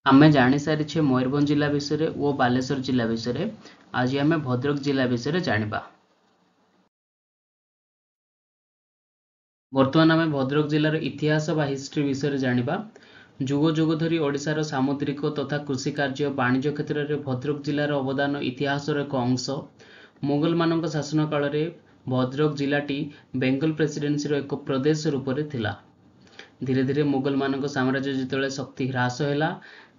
ଆମେ ଜାଣିସାରିଛେ ମୟୂରଭଞ୍ଜ ଜିଲ୍ଲା ବିଷୟରେ ଓ ବାଲେଶ୍ୱର ଜିଲ୍ଲା ବିଷୟରେ। ଆଜି ଆମେ ଭଦ୍ରକ ଜିଲ୍ଲା ବିଷୟରେ ଜାଣିବା। ବର୍ତ୍ତମାନ ଆମେ ଭଦ୍ରକ ଜିଲ୍ଲାର ଇତିହାସ ବା ହିଷ୍ଟ୍ରି ବିଷୟରେ ଜାଣିବା। ଯୁଗ ଯୁଗ ଧରି ଓଡ଼ିଶାର ସାମୁଦ୍ରିକ ତଥା କୃଷି କାର୍ଯ୍ୟ, ବାଣିଜ୍ୟ କ୍ଷେତ୍ରରେ ଭଦ୍ରକ ଜିଲ୍ଲାର ଅବଦାନ ଇତିହାସର ଏକ ଅଂଶ। ମୋଗଲମାନଙ୍କ ଶାସନ କାଳରେ ଭଦ୍ରକ ଜିଲ୍ଲାଟି ବେଙ୍ଗଲ ପ୍ରେସିଡେନ୍ସିର ଏକ ପ୍ରଦେଶ ରୂପରେ ଥିଲା। ଧୀରେ ଧୀରେ ମୋଗଲମାନଙ୍କ ସାମ୍ରାଜ୍ୟ ଯେତେବେଳେ ଶକ୍ତି ହ୍ରାସ ହେଲା,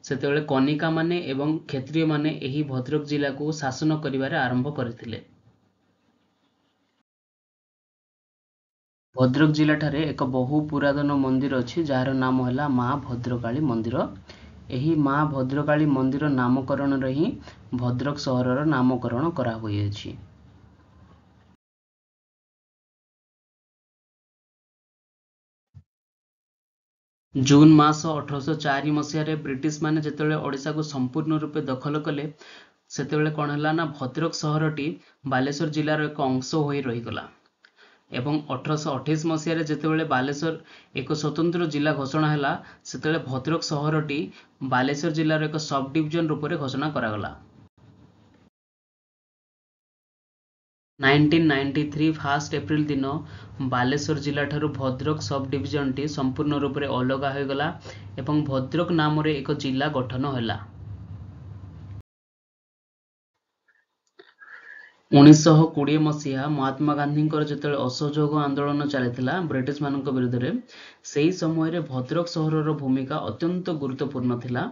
ସେତେବେଳେ କନିକାମାନେ ଏବଂ କ୍ଷତ୍ରିୟମାନେ ଏହି ଭଦ୍ରକ ଜିଲ୍ଲାକୁ ଶାସନ କରିବାରେ ଆରମ୍ଭ କରିଥିଲେ। ଭଦ୍ରକ ଜିଲ୍ଲାଠାରେ ଏକ ବହୁ ପୁରାତନ ମନ୍ଦିର ଅଛି, ଯାହାର ନାମ ହେଲା ମା ଭଦ୍ରକାଳୀ ମନ୍ଦିର। ଏହି ମା ଭଦ୍ରକାଳୀ ମନ୍ଦିର ନାମକରଣରେ ହିଁ ଭଦ୍ରକ ସହରର ନାମକରଣ କରାହୋଇଅଛି। ଜୁନ୍ ମାସ 1804 ମସିହାରେ ବ୍ରିଟିଶମାନେ ଯେତେବେଳେ ଓଡ଼ିଶାକୁ ସମ୍ପୂର୍ଣ୍ଣ ରୂପେ ଦଖଲ କଲେ, ସେତେବେଳେ କ'ଣ ହେଲା ନା ଭଦ୍ରକ ସହରଟି ବାଲେଶ୍ୱର ଜିଲ୍ଲାର ଏକ ଅଂଶ ହୋଇ ରହିଗଲା। ଏବଂ 1828 ମସିହାରେ ଯେତେବେଳେ ବାଲେଶ୍ୱର ଏକ ସ୍ୱତନ୍ତ୍ର ଜିଲ୍ଲା ଘୋଷଣା ହେଲା, ସେତେବେଳେ ଭଦ୍ରକ ସହରଟି ବାଲେଶ୍ୱର ଜିଲ୍ଲାର ଏକ ସବ୍ ଡିଭିଜନ ରୂପରେ ଘୋଷଣା କରାଗଲା। 1993 ଫାର୍ଷ୍ଟ ଏପ୍ରିଲ ଦିନ ବାଲେଶ୍ୱର ଜିଲ୍ଲାଠାରୁ ଭଦ୍ରକ ସବ୍ ଡିଭିଜନଟି ସମ୍ପୂର୍ଣ୍ଣ ରୂପରେ ଅଲଗା ହୋଇଗଲା ଏବଂ ଭଦ୍ରକ ନାମରେ ଏକ ଜିଲ୍ଲା ଗଠନ ହେଲା। 1920 ମସିହା ମହାତ୍ମା ଗାନ୍ଧୀଙ୍କର ଯେତେବେଳେ ଅସହଯୋଗ ଆନ୍ଦୋଳନ ଚାଲିଥିଲା ବ୍ରିଟିଶମାନଙ୍କ ବିରୁଦ୍ଧରେ, ସେହି ସମୟରେ ଭଦ୍ରକ ସହରର ଭୂମିକା ଅତ୍ୟନ୍ତ ଗୁରୁତ୍ୱପୂର୍ଣ୍ଣ ଥିଲା।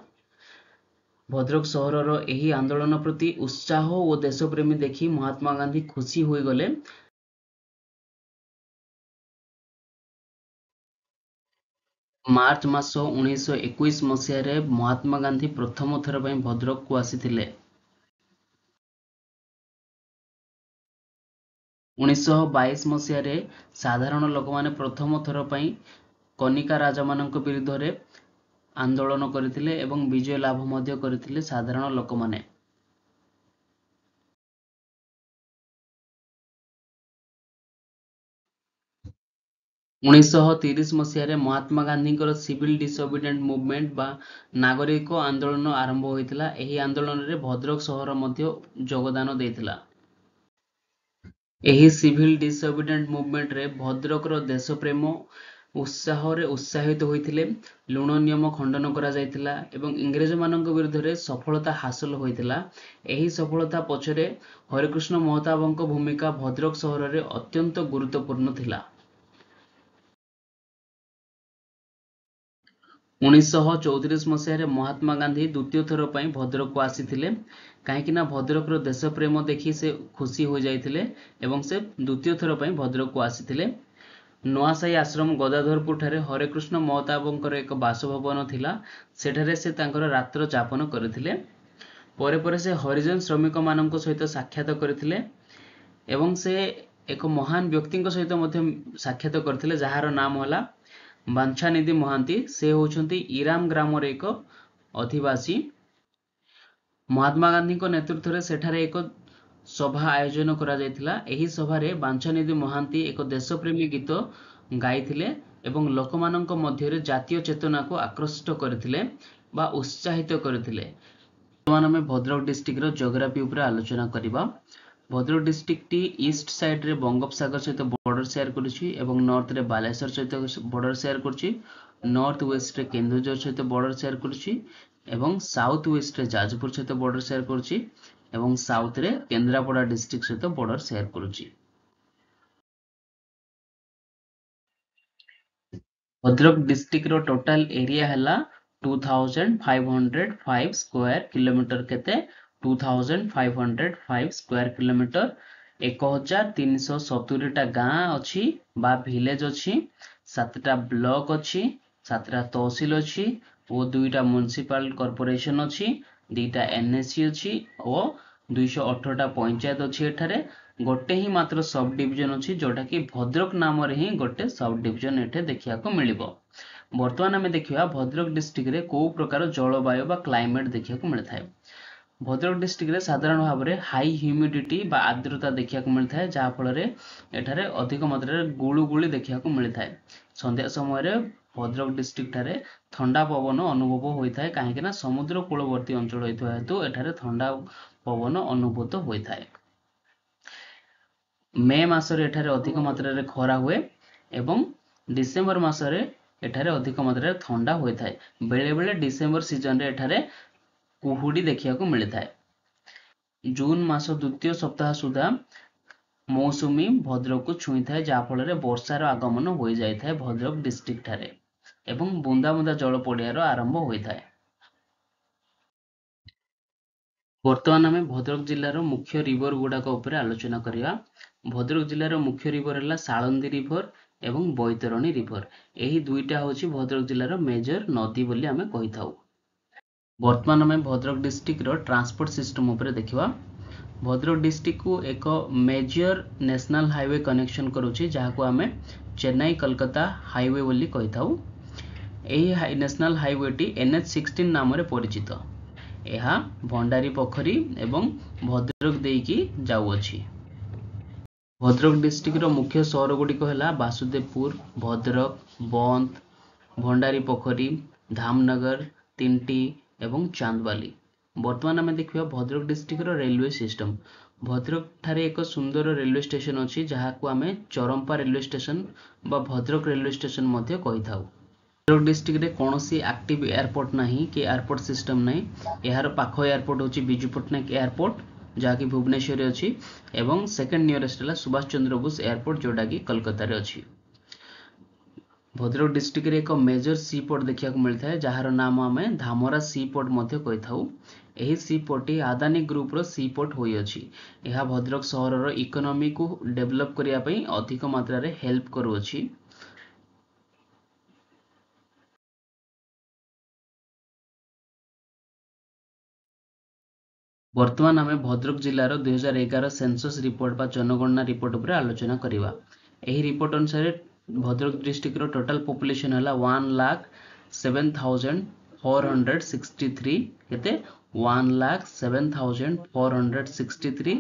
ଭଦ୍ରକ ସହରର ଏହି ଆନ୍ଦୋଳନ ପ୍ରତି ଉତ୍ସାହ ଓ ଦେଶପ୍ରେମୀ ଦେଖି ମହାତ୍ମା ଗାନ୍ଧୀ ଖୁସି ହୋଇଗଲେ। ମାର୍ଚ୍ଚ ମାସ 1921 ମସିହାରେ ମହାତ୍ମା ଗାନ୍ଧୀ ପ୍ରଥମ ଥର ପାଇଁ ଭଦ୍ରକକୁ ଆସିଥିଲେ। 1922 ମସିହାରେ ସାଧାରଣ ଲୋକମାନେ ପ୍ରଥମ ଥର ପାଇଁ କନିକା ରାଜାମାନଙ୍କ ବିରୁଦ୍ଧରେ ଆନ୍ଦୋଳନ କରିଥିଲେ ଏବଂ ବିଜୟ ଲାଭ ମଧ୍ୟ କରିଥିଲେ ସାଧାରଣ ଲୋକମାନେ। 1930 ମସିହାରେ ମହାତ୍ମା ଗାନ୍ଧୀଙ୍କର ସିଭିଲ ଡିସଓବିଡିଏଣ୍ଟ ମୁଭମେଣ୍ଟ ବା ନାଗରିକ ଆନ୍ଦୋଳନ ଆରମ୍ଭ ହୋଇଥିଲା। ଏହି ଆନ୍ଦୋଳନରେ ଭଦ୍ରକ ସହର ମଧ୍ୟ ଯୋଗଦାନ ଦେଇଥିଲା। ଏହି ସିଭିଲ ଡିସଓବିଡିଏଣ୍ଟ ମୁଭମେଣ୍ଟରେ ଭଦ୍ରକର ଦେଶପ୍ରେମ ଉତ୍ସାହରେ ଉତ୍ସାହିତ ହୋଇଥିଲେ। ଲୁଣ ନିୟମ ଖଣ୍ଡନ କରାଯାଇଥିଲା ଏବଂ ଇଂରେଜମାନଙ୍କ ବିରୁଦ୍ଧରେ ସଫଳତା ହାସଲ ହୋଇଥିଲା। ଏହି ସଫଳତା ପଛରେ ହରେକୃଷ୍ଣ ମହତାବଙ୍କ ଭୂମିକା ଭଦ୍ରକ ସହରରେ ଅତ୍ୟନ୍ତ ଗୁରୁତ୍ୱପୂର୍ଣ୍ଣ ଥିଲା। 1934 ମସିହାରେ ମହାତ୍ମା ଗାନ୍ଧୀ ଦ୍ୱିତୀୟ ଥର ପାଇଁ ଭଦ୍ରକକୁ ଆସିଥିଲେ, କାହିଁକି ନା ଭଦ୍ରକର ଦେଶପ୍ରେମ ଦେଖି ସେ ଖୁସି ହୋଇଯାଇଥିଲେ ଏବଂ ସେ ଦ୍ୱିତୀୟ ଥର ପାଇଁ ଭଦ୍ରକକୁ ଆସିଥିଲେ। ନୂଆସାହି ଆଶ୍ରମ ଗଦାଧରପୁର ଠାରେ ହରେକୃଷ୍ଣ ମହତାବଙ୍କର ଏକ ବାସଭବନ ଥିଲା, ସେଠାରେ ସେ ତାଙ୍କର ରାତ୍ର ଯାପନ କରିଥିଲେ। ପରେ ପରେ ସେ ହରିଜନ ଶ୍ରମିକମାନଙ୍କ ସହିତ ସାକ୍ଷାତ କରିଥିଲେ ଏବଂ ସେ ଏକ ମହାନ ବ୍ୟକ୍ତିଙ୍କ ସହିତ ମଧ୍ୟ ସାକ୍ଷାତ କରିଥିଲେ, ଯାହାର ନାମ ହେଲା ବାଞ୍ଛାନିଧି ମହାନ୍ତି। ସେ ହେଉଛନ୍ତି ଇରାମ ଗ୍ରାମର ଏକ ଅଧିବାସୀ। ମହାତ୍ମା ଗାନ୍ଧୀଙ୍କ ନେତୃତ୍ୱରେ ସେଠାରେ ଏକ ସଭା ଆୟୋଜନ କରାଯାଇଥିଲା। ଏହି ସଭାରେ ବାଞ୍ଛାନିଧି ମହାନ୍ତି ଏକ ଦେଶପ୍ରେମୀ ଗୀତ ଗାଇଥିଲେ ଏବଂ ଲୋକମାନଙ୍କ ମଧ୍ୟରେ ଜାତୀୟ ଚେତନାକୁ ଆକୃଷ୍ଟ କରିଥିଲେ ବା ଉତ୍ସାହିତ କରିଥିଲେ। ବର୍ତ୍ତମାନ ଆମେ ଭଦ୍ରକ ଡିଷ୍ଟ୍ରିକ୍ଟର ଜିଓଗ୍ରାଫି ଉପରେ ଆଲୋଚନା କରିବା। ଭଦ୍ରକ ଡିଷ୍ଟ୍ରିକ୍ଟଟି ଇଷ୍ଟ ସାଇଡ୍ରେ ବଙ୍ଗୋପସାଗର ସହିତ ବର୍ଡର ସେୟାର କରୁଛି ଏବଂ ନର୍ଥରେ ବାଲେଶ୍ୱର ସହିତ ବର୍ଡର ସେୟାର କରୁଛି, ନର୍ଥ ୱେଷ୍ଟରେ କେନ୍ଦୁଝର ସହିତ ବର୍ଡର ସେୟାର କରୁଛି ଏବଂ ସାଉଥ ୱେଷ୍ଟରେ ଯାଜପୁର ସହିତ ବର୍ଡର ସେୟାର କରୁଛି ଏବଂ ସାଉଥରେ କେନ୍ଦ୍ରାପଡ଼ା ଡିଷ୍ଟ୍ରିକ୍ଟ ସହିତ ବର୍ଡର ସେୟାର କରୁଛି। ଭଦ୍ରକ ଡିଷ୍ଟ୍ରିକ୍ଟର ଟୋଟାଲ ଏରିଆ ହେଲା 2505 ସ୍କୋୟାର କିଲୋମିଟର। କେତେ? 2505 ସ୍କୋୟାର କିଲୋମିଟର। 1370ଟା ଗାଁ ଅଛି ବା ଭିଲେଜ ଅଛି, 7ଟା ବ୍ଲକ ଅଛି, 7ଟା ତହସିଲ ଅଛି ଓ 2ଟା ମ୍ୟୁନିସିପାଲ କର୍ପୋରେସନ ଅଛି, 2ଟା ଏନ୍ଏସି ଅଛି ଓ 218ଟା ପଞ୍ଚାୟତ ଅଛି। ଏଠାରେ ଗୋଟେ ହିଁ ମାତ୍ର ସବ୍ ଡିଭିଜନ ଅଛି, ଯୋଉଟାକି ଭଦ୍ରକ ନାମରେ ହିଁ ଗୋଟେ ସବ୍ ଡିଭିଜନ ଏଠି ଦେଖିବାକୁ ମିଳିବ। ବର୍ତ୍ତମାନ ଆମେ ଦେଖିବା ଭଦ୍ରକ ଡିଷ୍ଟ୍ରିକ୍ଟରେ କୋଉ ପ୍ରକାର ଜଳବାୟୁ ବା କ୍ଲାଇମେଟ ଦେଖିବାକୁ ମିଳିଥାଏ। ଭଦ୍ରକ ଡିଷ୍ଟ୍ରିକ୍ଟରେ ସାଧାରଣ ଭାବରେ ହାଇ ହ୍ୟୁମିଡିଟି ବା ଆର୍ଦ୍ରତା ଦେଖିବାକୁ ମିଳିଥାଏ, ଯାହାଫଳରେ ଏଠାରେ ଅଧିକ ମାତ୍ରାରେ ଗୁଳୁଗୁଳି ଦେଖିବାକୁ ମିଳିଥାଏ। ସନ୍ଧ୍ୟା ସମୟରେ ଭଦ୍ରକ ଡିଷ୍ଟ୍ରିକ୍ଟ ଠାରେ ଥଣ୍ଡା ପବନ ଅନୁଭବ ହୋଇଥାଏ, କାହିଁକିନା ସମୁଦ୍ର କୂଳବର୍ତ୍ତୀ ଅଞ୍ଚଳ ହୋଇଥିବା ହେତୁ ଏଠାରେ ଥଣ୍ଡା ପବନ ଅନୁଭୂତ ହୋଇଥାଏ। ମେ ମାସରେ ଏଠାରେ ଅଧିକ ମାତ୍ରାରେ ଖରା ହୁଏ ଏବଂ ଡିସେମ୍ବର ମାସରେ ଏଠାରେ ଅଧିକ ମାତ୍ରାରେ ଥଣ୍ଡା ହୋଇଥାଏ। ବେଳେବେଳେ ଡିସେମ୍ବର ସିଜନରେ ଏଠାରେ କୁହୁଡ଼ି ଦେଖିବାକୁ ମିଳିଥାଏ। ଜୁନ୍ ମାସ ଦ୍ୱିତୀୟ ସପ୍ତାହ ସୁଦ୍ଧା ମୌସୁମୀ ଭଦ୍ରକକୁ ଛୁଇଁଥାଏ, ଯାହାଫଳରେ ବର୍ଷାର ଆଗମନ ହୋଇଯାଇଥାଏ ଭଦ୍ରକ ଡିଷ୍ଟ୍ରିକ୍ଟ ଠାରେ ଏବଂ ବୁନ୍ଦା ବୁନ୍ଦା ଜଳ ପଡ଼ିବାର ଆରମ୍ଭ ହୋଇଥାଏ। ବର୍ତ୍ତମାନ ଆମେ ଭଦ୍ରକ ଜିଲ୍ଲାର ମୁଖ୍ୟ ରିଭର ଗୁଡ଼ାକ ଉପରେ ଆଲୋଚନା କରିବା। ଭଦ୍ରକ ଜିଲ୍ଲାର ମୁଖ୍ୟ ରିଭର ହେଲା ସାଳନ୍ଦୀ ରିଭର ଏବଂ ବୈତରଣୀ ରିଭର। ଏହି ଦୁଇଟା ହେଉଛି ଭଦ୍ରକ ଜିଲ୍ଲାର ମେଜର ନଦୀ ବୋଲି ଆମେ କହିଥାଉ। ବର୍ତ୍ତମାନ ଆମେ ଭଦ୍ରକ ଡିଷ୍ଟ୍ରିକ୍ଟର ଟ୍ରାନ୍ସପୋର୍ଟ ସିଷ୍ଟମ ଉପରେ ଦେଖିବା। ଭଦ୍ରକ ଡିଷ୍ଟ୍ରିକ୍ଟକୁ ଏକ ମେଜର ନ୍ୟାସନାଲ ହାଇୱେ କନେକ୍ସନ କରୁଛି, ଯାହାକୁ ଆମେ ଚେନ୍ନାଇ କୋଲକାତା ହାଇୱେ ବୋଲି କହିଥାଉ। ଏହି ନ୍ୟାସନାଲ ହାଇୱେଟି NH 16 ନାମରେ ପରିଚିତ। ଏହା ଭଣ୍ଡାରୀ ପୋଖରୀ ଏବଂ ଭଦ୍ରକ ଦେଇକି ଯାଉଅଛି। ଭଦ୍ରକ ଡିଷ୍ଟ୍ରିକ୍ଟର ମୁଖ୍ୟ ସହର ଗୁଡ଼ିକ ହେଲା ବାସୁଦେବପୁର, ଭଦ୍ରକ, ବନ୍ତ, ଭଣ୍ଡାରୀ ପୋଖରୀ, ଧାମନଗର, ତିଣ୍ଟି ଏବଂ ଚାନ୍ଦବାଲି। ବର୍ତ୍ତମାନ ଆମେ ଦେଖିବା ଭଦ୍ରକ ଡିଷ୍ଟ୍ରିକ୍ଟର ରେଲୱେ ସିଷ୍ଟମ। ଭଦ୍ରକ ଠାରେ ଏକ ସୁନ୍ଦର ରେଲୱେ ଷ୍ଟେସନ ଅଛି, ଯାହାକୁ ଆମେ ଚରମ୍ପା ରେଲୱେ ଷ୍ଟେସନ ବା ଭଦ୍ରକ ରେଲୱେ ଷ୍ଟେସନ ମଧ୍ୟ କହିଥାଉ। ଭଦ୍ରକ ଡିଷ୍ଟ୍ରିକ୍ଟରେ କୌଣସି ଆକ୍ଟିଭ ଏୟାରପୋର୍ଟ ନାହିଁ କି ଏୟାରପୋର୍ଟ ସିଷ୍ଟମ ନାହିଁ। ଏହାର ପାଖ ଏୟାରପୋର୍ଟ ହେଉଛି ବିଜୁ ପଟ୍ଟନାୟକ ଏୟାରପୋର୍ଟ, ଯାହାକି ଭୁବନେଶ୍ୱରରେ ଅଛି, ଏବଂ ସେକେଣ୍ଡ ନିୟରେଷ୍ଟ ହେଲା ସୁଭାଷ ଚନ୍ଦ୍ର ବୋଷ ଏୟାରପୋର୍ଟ, ଯେଉଁଟାକି କୋଲକାତାରେ ଅଛି। ଭଦ୍ରକ ଡିଷ୍ଟ୍ରିକ୍ଟରେ ଏକ ମେଜର ସି ପୋର୍ଟ ଦେଖିବାକୁ ମିଳିଥାଏ, ଯାହାର ନାମ ଆମେ ଧାମରା ସି ପୋର୍ଟ ମଧ୍ୟ କହିଥାଉ। ଏହି ସି ପୋର୍ଟଟି ଆଦାନୀ ଗ୍ରୁପର ସି ପୋର୍ଟ ହୋଇଅଛି। ଏହା ଭଦ୍ରକ ସହରର ଇକୋନୋମିକୁ ଡେଭଲପ କରିବା ପାଇଁ ଅଧିକ ମାତ୍ରାରେ ହେଲ୍ପ କରୁଅଛି। ବର୍ତ୍ତମାନ ଆମେ ଭଦ୍ରକ ଜିଲ୍ଲାର 2011 ସେନ୍ସସ୍ ରିପୋର୍ଟ ବା ଜନଗଣନା ରିପୋର୍ଟ ଉପରେ ଆଲୋଚନା କରିବା। ଏହି ରିପୋର୍ଟ ଅନୁସାରେ ଭଦ୍ରକ ଡିଷ୍ଟ୍ରିକ୍ଟର ଟୋଟାଲ ପପୁଲେସନ ହେଲା 1,07,463। କେତେ? 1,07,463।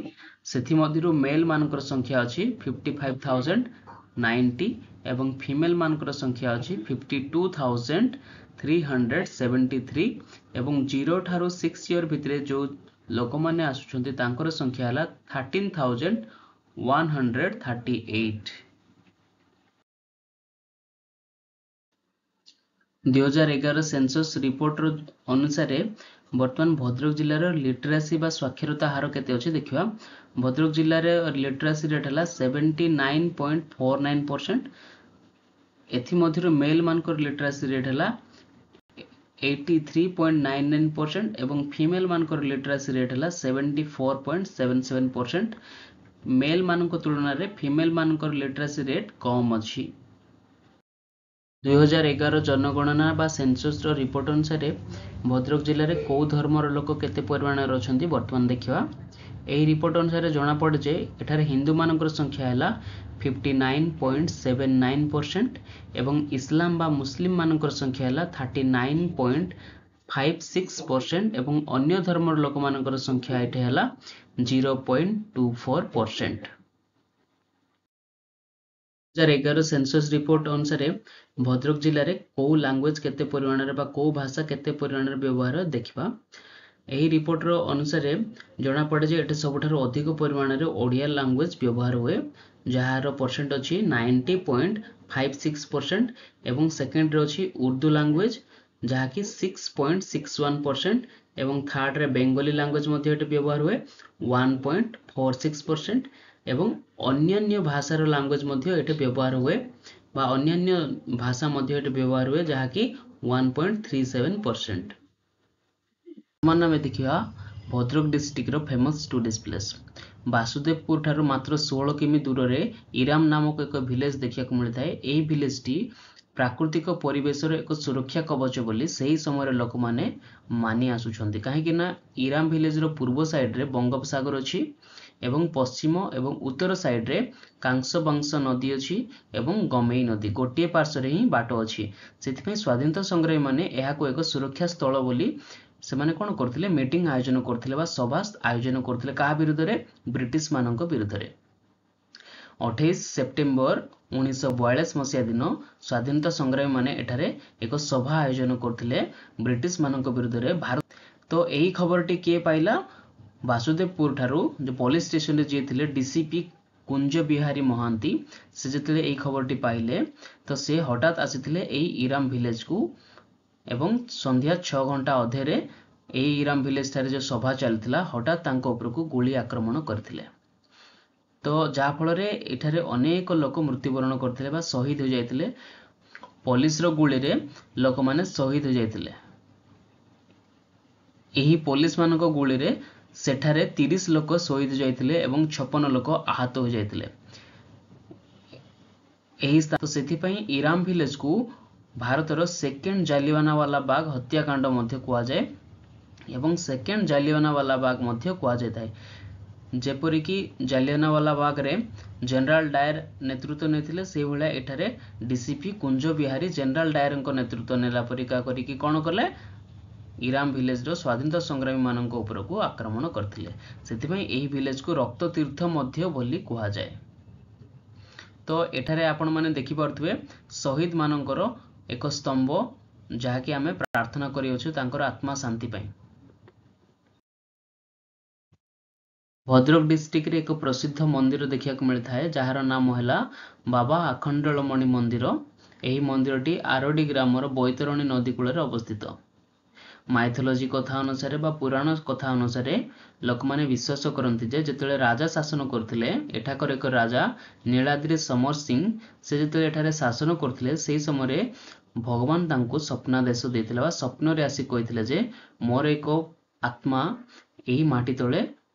ସେଥିମଧ୍ୟରୁ ମେଲ୍ ମାନଙ୍କର ସଂଖ୍ୟା ଅଛି 55,090 ଏବଂ ଫିମେଲ୍ ମାନଙ୍କର ସଂଖ୍ୟା ଅଛି 52,373 ଏବଂ 0 ଠାରୁ 6 ଇୟର ଭିତରେ ଯେଉଁ ଲୋକମାନେ ଆସୁଛନ୍ତି ତାଙ୍କର ସଂଖ୍ୟା ହେଲା 13,138। 2011 ସେନ୍ସସ୍ ରିପୋର୍ଟର ଅନୁସାରେ ବର୍ତ୍ତମାନ ଭଦ୍ରକ ଜିଲ୍ଲାର ଲିଟରାସି ବା ସ୍ୱାକ୍ଷରତା ହାର କେତେ ଅଛି ଦେଖିବା। ଭଦ୍ରକ ଜିଲ୍ଲାରେ ଲିଟରାସି ରେଟ୍ ହେଲା 79.49%। ଏଥିମଧ୍ୟରୁ ମେଲ୍ ମାନଙ୍କର ଲିଟରାସି ରେଟ୍ ହେଲା 83.99% ଏବଂ ଫିମେଲ୍ ମାନଙ୍କର ଲିଟରାସି ରେଟ୍ ହେଲା 74.77%। ମେଲ୍ ମାନଙ୍କ ତୁଳନାରେ ଫିମେଲ୍ ମାନଙ୍କର ଲିଟରାସି ରେଟ୍ କମ୍ ଅଛି। 2011 ଜନଗଣନା ବା ସେନ୍ସସ୍ର ରିପୋର୍ଟ ଅନୁସାରେ ଭଦ୍ରକ ଜିଲ୍ଲାରେ କେଉଁ ଧର୍ମର ଲୋକ କେତେ ପରିମାଣରେ ଅଛନ୍ତି ବର୍ତ୍ତମାନ ଦେଖିବା। ଏହି ରିପୋର୍ଟ ଅନୁସାରେ ଜଣାପଡ଼େ ଯେ ଏଠାରେ ହିନ୍ଦୁମାନଙ୍କର ସଂଖ୍ୟା ହେଲା 59.79% ଏବଂ ଇସଲାମ ବା ମୁସଲିମ ମାନଙ୍କର ସଂଖ୍ୟା ହେଲା 39.56% ଏବଂ ଅନ୍ୟ ଧର୍ମର ଲୋକମାନଙ୍କର ସଂଖ୍ୟା ଏଠି ହେଲା 0.24%। 2011 ସେନ୍ସସ୍ ରିପୋର୍ଟ ଅନୁସାରେ ଭଦ୍ରକ ଜିଲ୍ଲାରେ କେଉଁ ଲାଙ୍ଗୁଏଜ କେତେ ପରିମାଣରେ ବା କେଉଁ ଭାଷା କେତେ ପରିମାଣରେ ବ୍ୟବହାର ଦେଖିବା। ଏହି ରିପୋର୍ଟର ଅନୁସାରେ ଜଣାପଡ଼େ ଯେ ଏଠି ସବୁଠାରୁ ଅଧିକ ପରିମାଣରେ ଓଡ଼ିଆ ଲାଙ୍ଗୁଏଜ ବ୍ୟବହାର ହୁଏ, ଯାହାର ପରସେଣ୍ଟ ଅଛି 90.56% ଏବଂ ସେକେଣ୍ଡରେ ଅଛି ଉର୍ଦ୍ଦୁ ଲାଙ୍ଗୁଏଜ, ଯାହାକି 6.61% ଏବଂ ଥାର୍ଡ଼ରେ ବେଙ୍ଗଲୀ ଲାଙ୍ଗୁଏଜ ମଧ୍ୟ ଏଠି ବ୍ୟବହାର ହୁଏ 1.46% ଏବଂ ଅନ୍ୟାନ୍ୟ ଭାଷାର ଲାଙ୍ଗୁଏଜ ମଧ୍ୟ ଏଠି ବ୍ୟବହାର ହୁଏ ବା ଅନ୍ୟାନ୍ୟ ଭାଷା ମଧ୍ୟ ଏଠି ବ୍ୟବହାର ହୁଏ, ଯାହାକି 1.37%। ବର୍ତ୍ତମାନ ଆମେ ଦେଖିବା ଭଦ୍ରକ ଡିଷ୍ଟ୍ରିକ୍ଟର ଫେମସ୍ ଟୁରିଷ୍ଟ ପ୍ଲେସ୍। ବାସୁଦେବପୁର ଠାରୁ ମାତ୍ର 16 କିମି ଦୂରରେ ଇରାମ ନାମକ ଏକ ଭିଲେଜ ଦେଖିବାକୁ ମିଳିଥାଏ। ଏହି ଭିଲେଜଟି ପ୍ରାକୃତିକ ପରିବେଶର ଏକ ସୁରକ୍ଷା କବଚ ବୋଲି ସେହି ସମୟରେ ଲୋକମାନେ ମାନି ଆସୁଛନ୍ତି, କାହିଁକି ନା ଇରାମ ଭିଲେଜର ପୂର୍ବ ସାଇଡ୍ରେ ବଙ୍ଗୋପସାଗର ଅଛି ଏବଂ ପଶ୍ଚିମ ଏବଂ ଉତ୍ତର ସାଇଡ୍ରେ କାଂସବାଂଶ ନଦୀ ଅଛି ଏବଂ ଗମେଇ ନଦୀ, ଗୋଟିଏ ପାର୍ଶ୍ୱରେ ହିଁ ବାଟ ଅଛି। ସେଥିପାଇଁ ସ୍ୱାଧୀନତା ସଂଗ୍ରାମୀମାନେ ଏହାକୁ ଏକ ସୁରକ୍ଷା ସ୍ଥଳ ବୋଲି ସେମାନେ କ'ଣ କରୁଥିଲେ? ମିଟିଂ ଆୟୋଜନ କରୁଥିଲେ ବା ସଭା ଆୟୋଜନ କରୁଥିଲେ। କାହା ବିରୁଦ୍ଧରେ? ବ୍ରିଟିଶମାନଙ୍କ ବିରୁଦ୍ଧରେ। 28 ସେପ୍ଟେମ୍ବର 1942 ମସିହା ଦିନ ସ୍ୱାଧୀନତା ସଂଗ୍ରାମୀମାନେ ଏଠାରେ ଏକ ସଭା ଆୟୋଜନ କରୁଥିଲେ ବ୍ରିଟିଶମାନଙ୍କ ବିରୁଦ୍ଧରେ ଭାରତ। ତ ଏହି ଖବରଟି କିଏ ପାଇଲା? ବାସୁଦେବପୁର ଠାରୁ ଯେଉଁ ପୋଲିସ ଷ୍ଟେସନରେ ଯିଏ ଥିଲେ ଡିସିପି କୁଞ୍ଜ ବିହାରୀ ମହାନ୍ତି, ସେ ଯେତେବେଳେ ଏହି ଖବରଟି ପାଇଲେ ତ ସେ ହଠାତ୍ ଆସିଥିଲେ ଏହି ଇରାମ ଭିଲେଜକୁ ଏବଂ ସନ୍ଧ୍ୟା 6 ଘଣ୍ଟା ଅଧେରେ ଏହି ଇରାମ ଭିଲେଜ ଠାରେ ଯେଉଁ ସଭା ଚାଲିଥିଲା, ହଠାତ୍ ତାଙ୍କ ଉପରକୁ ଗୁଳି ଆକ୍ରମଣ କରିଥିଲେ। ତ ଯାହାଫଳରେ ଏଠାରେ ଅନେକ ଲୋକ ମୃତ୍ୟୁବରଣ କରିଥିଲେ ବା ଶହୀଦ ହୋଇଯାଇଥିଲେ। ପୋଲିସର ଗୁଳିରେ ଲୋକମାନେ ଶହୀଦ ହୋଇଯାଇଥିଲେ। ଏହି ପୋଲିସମାନଙ୍କ ଗୁଳିରେ ସେଠାରେ 30 ଲୋକ ଶହୀଦ ଯାଇଥିଲେ ଏବଂ 56 ଲୋକ ଆହତ ହୋଇଯାଇଥିଲେ ଏହି। ସେଥିପାଇଁ ଇରାମ ଭିଲେଜକୁ ଭାରତର ସେକେଣ୍ଡ ଜାଲିଆନାୱାଲା ବାଗ ହତ୍ୟାକାଣ୍ଡ ମଧ୍ୟ କୁହାଯାଏ ଏବଂ ସେକେଣ୍ଡ ଜାଲିଆନାୱାଲା ବାଗ ମଧ୍ୟ କୁହାଯାଇଥାଏ। ଯେପରିକି ଜାଲିଆନାୱାଲା ବାଗରେ ଜେନେରାଲ ଡାୟର ନେତୃତ୍ୱ ନେଇଥିଲେ, ସେଇଭଳିଆ ଏଠାରେ ଡିସିପି କୁଞ୍ଜ ବିହାରୀ ଜେନେରାଲ ଡାୟରଙ୍କ ନେତୃତ୍ୱ ନେଲା ପରିକା କରିକି କ'ଣ କଲେ? ଇରାମ ଭିଲେଜର ସ୍ୱାଧୀନତା ସଂଗ୍ରାମୀମାନଙ୍କ ଉପରକୁ ଆକ୍ରମଣ କରିଥିଲେ। ସେଥିପାଇଁ ଏହି ଭିଲେଜକୁ ରକ୍ତତୀର୍ଥ ମଧ୍ୟ ବୋଲି କୁହାଯାଏ। ତ ଏଠାରେ ଆପଣମାନେ ଦେଖିପାରୁଥିବେ ଶହୀଦମାନଙ୍କର ଏକ ସ୍ତମ୍ଭ, ଯାହାକି ଆମେ ପ୍ରାର୍ଥନା କରିଅଛୁ ତାଙ୍କର ଆତ୍ମା ଶାନ୍ତି ପାଇଁ। ଭଦ୍ରକ ଡିଷ୍ଟ୍ରିକ୍ଟରେ ଏକ ପ୍ରସିଦ୍ଧ ମନ୍ଦିର ଦେଖିବାକୁ ମିଳିଥାଏ, ଯାହାର ନାମ ହେଲା ବାବା ଆଖଣ୍ଡଳମଣି ମନ୍ଦିର। ଏହି ମନ୍ଦିରଟି ଆରଡ଼ି ଗ୍ରାମର ବୈତରଣୀ ନଦୀ କୂଳରେ ଅବସ୍ଥିତ। ମାଇଥୋଲୋଜି କଥା ଅନୁସାରେ ବା ପୁରାଣ କଥା ଅନୁସାରେ ଲୋକମାନେ ବିଶ୍ୱାସ କରନ୍ତି ଯେ ଯେତେବେଳେ ରାଜା ଶାସନ କରୁଥିଲେ, ଏଠାକାର ଏକ ରାଜା ନୀଳାଦ୍ରି ସମର ସିଂ, ସେ ଯେତେବେଳେ ଏଠାରେ ଶାସନ କରୁଥିଲେ, ସେହି ସମୟରେ ଭଗବାନ ତାଙ୍କୁ ସ୍ୱପ୍ନାଦେଶ ଦେଇଥିଲେ ବା ସ୍ୱପ୍ନରେ ଆସି କହିଥିଲେ ଯେ ମୋର ଏକ ଆତ୍ମା ଏହି ମାଟି ତଳେ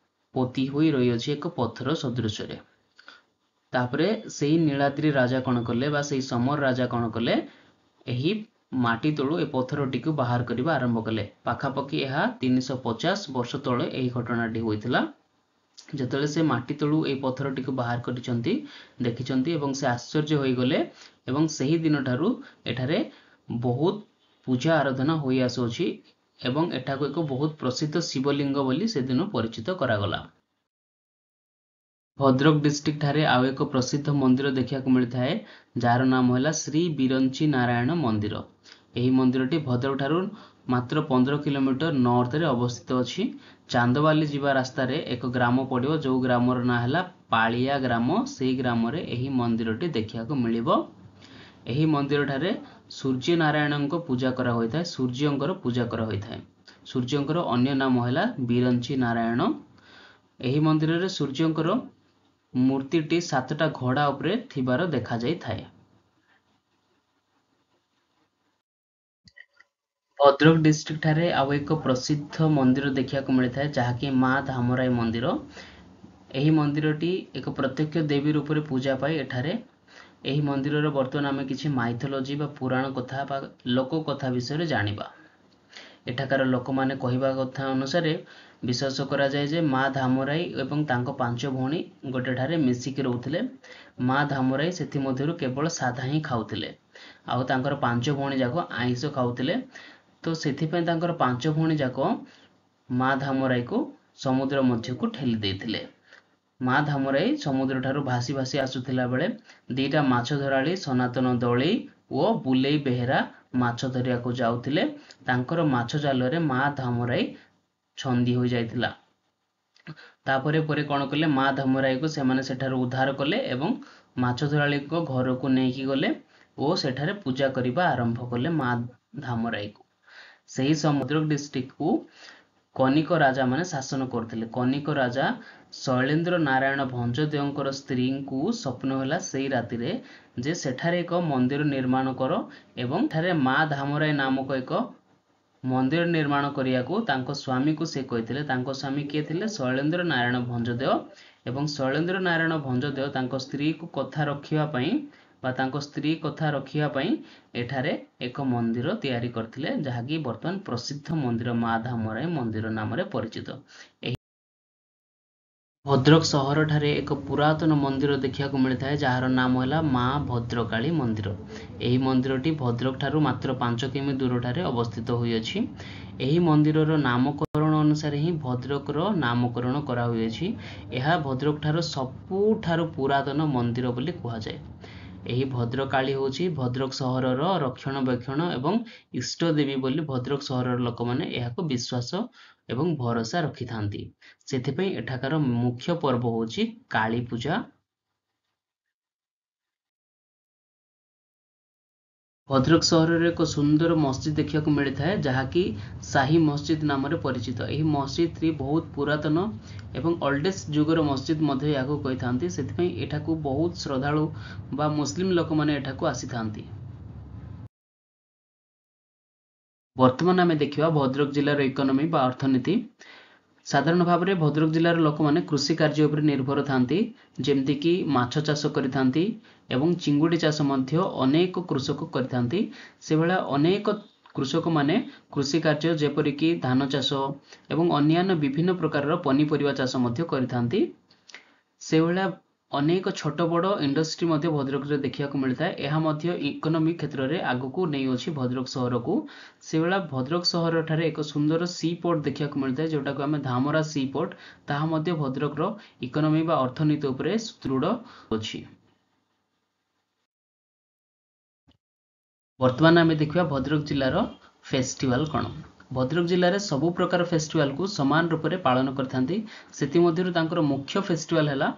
ପୋତି ହୋଇ ରହିଅଛି ଏକ ପଥର ସଦୃଶରେ। ତାପରେ ସେଇ ନୀଳାଦ୍ରି ରାଜା କ'ଣ କଲେ ବା ସେଇ ସମର ରାଜା କ'ଣ କଲେ? ଏହି ମାଟି ତଳୁ ଏ ପଥରଟିକୁ ବାହାର କରିବା ଆରମ୍ଭ କଲେ। ପାଖାପାଖି ଏହା 350 ବର୍ଷ ତଳେ ଏହି ଘଟଣାଟି ହୋଇଥିଲା। ଯେତେବେଳେ ସେ ମାଟି ତଳୁ ଏହି ପଥରଟିକୁ ବାହାର କରିଛନ୍ତି, ଦେଖିଛନ୍ତି ଏବଂ ସେ ଆଶ୍ଚର୍ଯ୍ୟ ହୋଇଗଲେ ଏବଂ ସେହି ଦିନଠାରୁ ଏଠାରେ ବହୁତ ପୂଜା ଆରାଧନା ହୋଇ ଆସୁଅଛି ଏବଂ ଏଠାକୁ ଏକ ବହୁତ ପ୍ରସିଦ୍ଧ ଶିବଲିଙ୍ଗ ବୋଲି ସେଦିନ ପରିଚିତ କରାଗଲା। ଭଦ୍ରକ ଡିଷ୍ଟ୍ରିକ୍ଟ ଠାରେ ଆଉ ଏକ ପ୍ରସିଦ୍ଧ ମନ୍ଦିର ଦେଖିବାକୁ ମିଳିଥାଏ, ଯାହାର ନାମ ହେଲା ଶ୍ରୀ ବିରଞ୍ଚି ନାରାୟଣ ମନ୍ଦିର। ଏହି ମନ୍ଦିରଟି ଭଦ୍ରକ ଠାରୁ ମାତ୍ର 15 କିଲୋମିଟର ନର୍ଥରେ ଅବସ୍ଥିତ ଅଛି। ଚାନ୍ଦବାଲି ଯିବା ରାସ୍ତାରେ ଏକ ଗ୍ରାମ ପଡ଼ିବ, ଯେଉଁ ଗ୍ରାମର ନାଁ ହେଲା ପାଳିଆ ଗ୍ରାମ। ସେଇ ଗ୍ରାମରେ ଏହି ମନ୍ଦିରଟି ଦେଖିବାକୁ ମିଳିବ। ଏହି ମନ୍ଦିରଠାରେ ସୂର୍ଯ୍ୟ ନାରାୟଣଙ୍କ ପୂଜା କରାହୋଇଥାଏ, ସୂର୍ଯ୍ୟଙ୍କର ପୂଜା କରାହୋଇଥାଏ। ସୂର୍ଯ୍ୟଙ୍କର ଅନ୍ୟ ନାମ ହେଲା ବିରଞ୍ଚି ନାରାୟଣ। ଏହି ମନ୍ଦିରରେ ସୂର୍ଯ୍ୟଙ୍କର ମୂର୍ତ୍ତିଟି 7ଟା ଘୋଡ଼ା ଉପରେ ଥିବାର ଦେଖାଯାଇଥାଏ। ଭଦ୍ରକ ଡିଷ୍ଟ୍ରିକ୍ଟ ଠାରେ ଆଉ ଏକ ପ୍ରସିଦ୍ଧ ମନ୍ଦିର ଦେଖିବାକୁ ମିଳିଥାଏ, ଯାହାକି ମା ଧାମରାଇ ମନ୍ଦିର। ଏହି ମନ୍ଦିରଟି ଏକ ପ୍ରତ୍ୟକ୍ଷ ଦେବୀ ରୂପରେ ପୂଜା ପାଇ ଏଠାରେ। ଏହି ମନ୍ଦିରର ବର୍ତ୍ତମାନ ଆମେ କିଛି ମାଇଥୋଲୋଜି ବା ପୁରାଣ କଥା ବା ଲୋକ କଥା ବିଷୟରେ ଜାଣିବା। ଏଠାକାର ଲୋକମାନେ କହିବା କଥା ଅନୁସାରେ ବିଶ୍ୱାସ କରାଯାଏ ଯେ ମା ଧାମରାଇ ଏବଂ ତାଙ୍କ 5 ଭଉଣୀ ଗୋଟେ ଠାରେ ମିଶିକି ରହୁଥିଲେ। ମା ଧାମରାଇ ସେଥିମଧ୍ୟରୁ କେବଳ ସାଧା ହିଁ ଖାଉଥିଲେ ଆଉ ତାଙ୍କର 5 ଭଉଣୀ ଯାକ ଆଇଁଷ ଖାଉଥିଲେ। ତ ସେଥିପାଇଁ ତାଙ୍କର 5 ଭଉଣୀ ଯାକ ମା ଧାମରାଇକୁ ସମୁଦ୍ର ମଧ୍ୟକୁ ଠେଲି ଦେଇଥିଲେ। ମା ଧାମରାଇ ସମୁଦ୍ର ଠାରୁ ଭାସି ଭାସି ଆସୁଥିଲା ବେଳେ 2ଟା ମାଛ ଧରାଳି ସନାତନ ଦଳେଇ ଓ ବୁଲେଇ ବେହେରା ମାଛ ଧରିବାକୁ ଯାଉଥିଲେ। ତାଙ୍କର ମାଛ ଜାଲରେ ମା ଧାମରାଇ ଛନ୍ଦି ହୋଇଯାଇଥିଲା। ତାପରେ ପରେ କ'ଣ କଲେ? ମା ଧାମରାଇକୁ ସେମାନେ ସେଠାରୁ ଉଦ୍ଧାର କଲେ ଏବଂ ମାଛ ଧରାଳିଙ୍କ ଘରକୁ ନେଇକି ଗଲେ ଓ ସେଠାରେ ପୂଜା କରିବା ଆରମ୍ଭ କଲେ ମା ଧାମରାଇକୁ। ସେହି ସମୁଦ୍ର ଡିଷ୍ଟ୍ରିକ୍ଟକୁ କନିକ ରାଜାମାନେ ଶାସନ କରୁଥିଲେ। କନିକ ରାଜା ଶୈଳେନ୍ଦ୍ର ନାରାୟଣ ଭଞ୍ଜଦେଓଙ୍କର ସ୍ତ୍ରୀଙ୍କୁ ସ୍ୱପ୍ନ ହେଲା ସେଇ ରାତିରେ ଯେ ସେଠାରେ ଏକ ମନ୍ଦିର ନିର୍ମାଣ କର ଏବଂ ଏଠାରେ ମା ଧାମରାଇ ନାମକ ଏକ ମନ୍ଦିର ନିର୍ମାଣ କରିବାକୁ ତାଙ୍କ ସ୍ୱାମୀକୁ ସେ କହିଥିଲେ। ତାଙ୍କ ସ୍ୱାମୀ କିଏ ଥିଲେ? ଶୈଳେନ୍ଦ୍ର ନାରାୟଣ ଭଞ୍ଜଦେଓ। ଏବଂ ଶୈଳେନ୍ଦ୍ର ନାରାୟଣ ଭଞ୍ଜଦେଓ ତାଙ୍କ ସ୍ତ୍ରୀକୁ କଥା ରଖିବା ପାଇଁ ବା ତାଙ୍କ ସ୍ତ୍ରୀ କଥା ରଖିବା ପାଇଁ ଏଠାରେ ଏକ ମନ୍ଦିର ତିଆରି କରିଥିଲେ, ଯାହାକି ବର୍ତ୍ତମାନ ପ୍ରସିଦ୍ଧ ମନ୍ଦିର ମା ଧାମରାଇ ମନ୍ଦିର ନାମରେ ପରିଚିତ। ଏହି ଭଦ୍ରକ ସହରଠାରେ ଏକ ପୁରାତନ ମନ୍ଦିର ଦେଖିବାକୁ ମିଳିଥାଏ, ଯାହାର ନାମ ହେଲା ମା ଭଦ୍ରକାଳୀ ମନ୍ଦିର। ଏହି ମନ୍ଦିରଟି ଭଦ୍ରକ ଠାରୁ ମାତ୍ର 5 କିମି ଦୂରଠାରେ ଅବସ୍ଥିତ ହୋଇଅଛି। ଏହି ମନ୍ଦିରର ନାମକରଣ ଅନୁସାରେ ହିଁ ଭଦ୍ରକର ନାମକରଣ କରାହୋଇଅଛି। ଏହା ଭଦ୍ରକ ଠାରୁ ସବୁଠାରୁ ପୁରାତନ ମନ୍ଦିର ବୋଲି କୁହାଯାଏ। ଏହି ଭଦ୍ରକାଳୀ ହେଉଛି ଭଦ୍ରକ ସହରର ରକ୍ଷଣାବେକ୍ଷଣ ଏବଂ ଇଷ୍ଟ ଦେବୀ ବୋଲି ଭଦ୍ରକ ସହରର ଲୋକମାନେ ଏହାକୁ ବିଶ୍ୱାସ ଏବଂ ଭରସା ରଖିଥାନ୍ତି। ସେଥିପାଇଁ ଏଠାକାର ମୁଖ୍ୟ ପର୍ବ ହେଉଛି କାଳୀ ପୂଜା। ଭଦ୍ରକ ସହରରେ ଏକ ସୁନ୍ଦର ମସଜିଦ ଦେଖିବାକୁ ମିଳିଥାଏ, ଯାହାକି ସାହି ମସଜିଦ ନାମରେ ପରିଚିତ। ଏହି ମସଜିଦଟି ବହୁତ ପୁରାତନ ଏବଂ ଅଲ୍ଡେଷ୍ଟ ଯୁଗର ମସଜିଦ ମଧ୍ୟ ଏହାକୁ କହିଥାନ୍ତି। ସେଥିପାଇଁ ଏଠାକୁ ବହୁତ ଶ୍ରଦ୍ଧାଳୁ ବା ମୁସଲିମ ଲୋକମାନେ ଏଠାକୁ ଆସିଥାନ୍ତି। ବର୍ତ୍ତମାନ ଆମେ ଦେଖିବା ଭଦ୍ରକ ଜିଲ୍ଲାର ଇକୋନୋମି ବା ଅର୍ଥନୀତି। ସାଧାରଣ ଭାବରେ ଭଦ୍ରକ ଜିଲ୍ଲାର ଲୋକମାନେ କୃଷି କାର୍ଯ୍ୟ ଉପରେ ନିର୍ଭର ଥାନ୍ତି, ଯେମିତିକି ମାଛ ଚାଷ କରିଥାନ୍ତି ଏବଂ ଚିଙ୍ଗୁଡ଼ି ଚାଷ ମଧ୍ୟ ଅନେକ କୃଷକ କରିଥାନ୍ତି। ସେଭଳିଆ ଅନେକ କୃଷକମାନେ କୃଷି କାର୍ଯ୍ୟ ଯେପରିକି ଧାନ ଚାଷ ଏବଂ ଅନ୍ୟାନ୍ୟ ବିଭିନ୍ନ ପ୍ରକାରର ପନିପରିବା ଚାଷ ମଧ୍ୟ କରିଥାନ୍ତି। ସେଭଳିଆ ଅନେକ ଛୋଟ ବଡ଼ ଇଣ୍ଡଷ୍ଟ୍ରି ମଧ୍ୟ ଭଦ୍ରକରେ ଦେଖିବାକୁ ମିଳିଥାଏ। ଏହା ମଧ୍ୟ ଇକୋନୋମି କ୍ଷେତ୍ରରେ ଆଗକୁ ନେଇଅଛି ଭଦ୍ରକ ସହରକୁ। ସେଭଳିଆ ଭଦ୍ରକ ସହରଠାରେ ଏକ ସୁନ୍ଦର ସି ପୋର୍ଟ ଦେଖିବାକୁ ମିଳିଥାଏ, ଯେଉଁଟାକୁ ଆମେ ଧାମରା ସି ପୋର୍ଟ, ତାହା ମଧ୍ୟ ଭଦ୍ରକର ଇକୋନୋମି ବା ଅର୍ଥନୀତି ଉପରେ ସୁଦୃଢ଼ ଅଛି। ବର୍ତ୍ତମାନ ଆମେ ଦେଖିବା ଭଦ୍ରକ ଜିଲ୍ଲାର ଫେଷ୍ଟିଭାଲ କ'ଣ। ଭଦ୍ରକ ଜିଲ୍ଲାରେ ସବୁ ପ୍ରକାର ଫେଷ୍ଟିଭାଲକୁ ସମାନ ରୂପରେ ପାଳନ କରିଥାନ୍ତି। ସେଥିମଧ୍ୟରୁ ତାଙ୍କର ମୁଖ୍ୟ ଫେଷ୍ଟିଭାଲ ହେଲା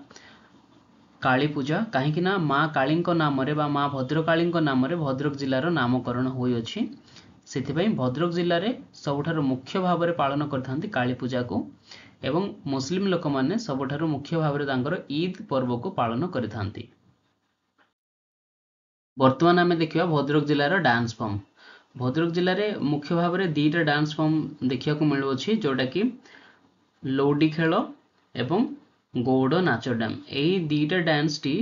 କାଳୀ ପୂଜା, କାହିଁକି ନା ମା କାଳୀଙ୍କ ନାମରେ ବା ମା ଭଦ୍ରକାଳୀଙ୍କ ନାମରେ ଭଦ୍ରକ ଜିଲ୍ଲାର ନାମକରଣ ହୋଇଅଛି। ସେଥିପାଇଁ ଭଦ୍ରକ ଜିଲ୍ଲାରେ ସବୁଠାରୁ ମୁଖ୍ୟ ଭାବରେ ପାଳନ କରିଥାନ୍ତି କାଳୀ ପୂଜାକୁ ଏବଂ ମୁସଲିମ ଲୋକମାନେ ସବୁଠାରୁ ମୁଖ୍ୟ ଭାବରେ ତାଙ୍କର ଇଦ୍ ପର୍ବକୁ ପାଳନ କରିଥାନ୍ତି। ବର୍ତ୍ତମାନ ଆମେ ଦେଖିବା ଭଦ୍ରକ ଜିଲ୍ଲାର ଡାନ୍ସ ଫର୍ମ। ଭଦ୍ରକ ଜିଲ୍ଲାରେ ମୁଖ୍ୟ ଭାବରେ 2ଟା ଡାନ୍ସ ଫର୍ମ ଦେଖିବାକୁ ମିଳୁଅଛି, ଯେଉଁଟାକି ଲଉଡ଼ି ଖେଳ ଏବଂ ଗଉଡ଼ ନାଚ ଡ୍ୟାମ୍। ଏହି 2ଟା ଡ୍ୟାନ୍ସଟି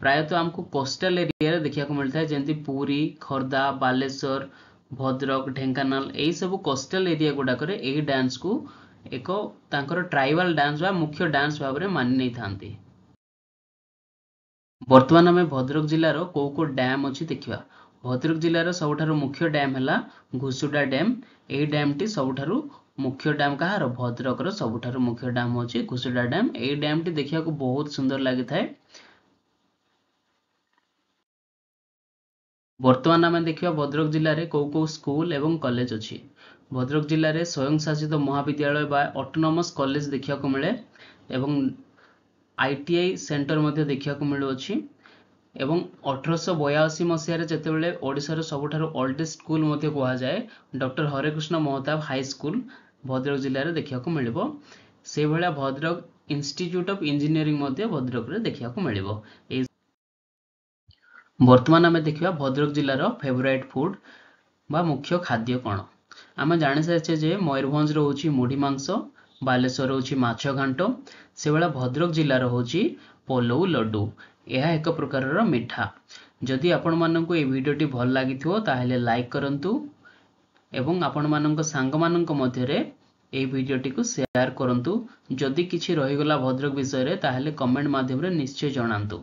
ପ୍ରାୟତଃ ଆମକୁ କୋଷ୍ଟାଲ ଏରିଆରେ ଦେଖିବାକୁ ମିଳିଥାଏ, ଯେମିତି ପୁରୀ, ଖୋର୍ଦ୍ଧା, ବାଲେଶ୍ୱର, ଭଦ୍ରକ, ଢେଙ୍କାନାଳ, ଏହିସବୁ କୋଷ୍ଟାଲ ଏରିଆ ଗୁଡ଼ାକରେ ଏହି ଡ୍ୟାନ୍ସକୁ ଏକ ତାଙ୍କର ଟ୍ରାଇବାଲ ଡ୍ୟାନ୍ସ ବା ମୁଖ୍ୟ ଡ୍ୟାନ୍ସ ଭାବରେ ମାନି ନେଇଥାନ୍ତି। ବର୍ତ୍ତମାନ ଆମେ ଭଦ୍ରକ ଜିଲ୍ଲାର କେଉଁ କେଉଁ ଡ୍ୟାମ୍ ଅଛି ଦେଖିବା। ଭଦ୍ରକ ଜିଲ୍ଲାର ସବୁଠାରୁ ମୁଖ୍ୟ ଡ୍ୟାମ୍ ହେଲା ଘୁଷୁଡା ଡ୍ୟାମ୍। ଏହି ଡ୍ୟାମ୍ଟି ସବୁଠାରୁ ମୁଖ୍ୟ ଡ୍ୟାମ୍ କାହାର? ଭଦ୍ରକର ସବୁଠାରୁ ମୁଖ୍ୟ ଡ୍ୟାମ୍ ହେଉଛି ଘୁଷୁଡା ଡ୍ୟାମ୍। ଏହି ଡ୍ୟାମ୍ଟି ଦେଖିବାକୁ ବହୁତ ସୁନ୍ଦର ଲାଗିଥାଏ। ବର୍ତ୍ତମାନ ଆମେ ଦେଖିବା ଭଦ୍ରକ ଜିଲ୍ଲାରେ କେଉଁ କେଉଁ ସ୍କୁଲ ଏବଂ କଲେଜ ଅଛି। ଭଦ୍ରକ ଜିଲ୍ଲାରେ ସ୍ୱୟଂଶାସିତ ମହାବିଦ୍ୟାଳୟ ବା ଅଟୋନମସ୍ କଲେଜ ଦେଖିବାକୁ ମିଳେ ଏବଂ ITI centre ମଧ୍ୟ ଦେଖିବାକୁ ମିଳୁଅଛି। ଏବଂ 1882 ମସିହାରେ ଯେତେବେଳେ ଓଡ଼ିଶାର ସବୁଠାରୁ ଓଲ୍ଡେଷ୍ଟ ସ୍କୁଲ ମଧ୍ୟ କୁହାଯାଏ, ଡକ୍ଟର ହରେକୃଷ୍ଣ ମହତାବ ହାଇସ୍କୁଲ ଭଦ୍ରକ ଜିଲ୍ଲାରେ ଦେଖିବାକୁ ମିଳିବ। ସେଇଭଳିଆ ଭଦ୍ରକ ଇନଷ୍ଟିଚ୍ୟୁଟ୍ ଅଫ୍ ଇଞ୍ଜିନିୟରିଂ ମଧ୍ୟ ଭଦ୍ରକରେ ଦେଖିବାକୁ ମିଳିବ। ଏଇ ବର୍ତ୍ତମାନ ଆମେ ଦେଖିବା ଭଦ୍ରକ ଜିଲ୍ଲାର ଫେଭରାଇଟ୍ ଫୁଡ୍ ବା ମୁଖ୍ୟ ଖାଦ୍ୟ କ'ଣ। ଆମେ ଜାଣିସାରିଛେ ଯେ ମୟୂରଭଞ୍ଜର ହେଉଛି ମୁଢ଼ି ମାଂସ, ବାଲେଶ୍ୱର ହେଉଛି ମାଛ ଘାଣ୍ଟ, ସେଭଳିଆ ଭଦ୍ରକ ଜିଲ୍ଲାର ହେଉଛି ପଲଉ ଲଡ଼ୁ। ଏହା ଏକ ପ୍ରକାରର ମିଠା। ଯଦି ଆପଣମାନଙ୍କୁ ଏହି ଭିଡ଼ିଓଟି ଭଲ ଲାଗିଥିବ ତାହେଲେ ଲାଇକ୍ କରନ୍ତୁ ଏବଂ ଆପଣମାନଙ୍କ ସାଙ୍ଗମାନଙ୍କ ମଧ୍ୟରେ ଏହି ଭିଡ଼ିଓଟିକୁ ସେୟାର କରନ୍ତୁ। ଯଦି କିଛି ରହିଗଲା ଭଦ୍ରକ ବିଷୟରେ ତାହେଲେ କମେଣ୍ଟ ମାଧ୍ୟମରେ ନିଶ୍ଚୟ ଜଣାନ୍ତୁ।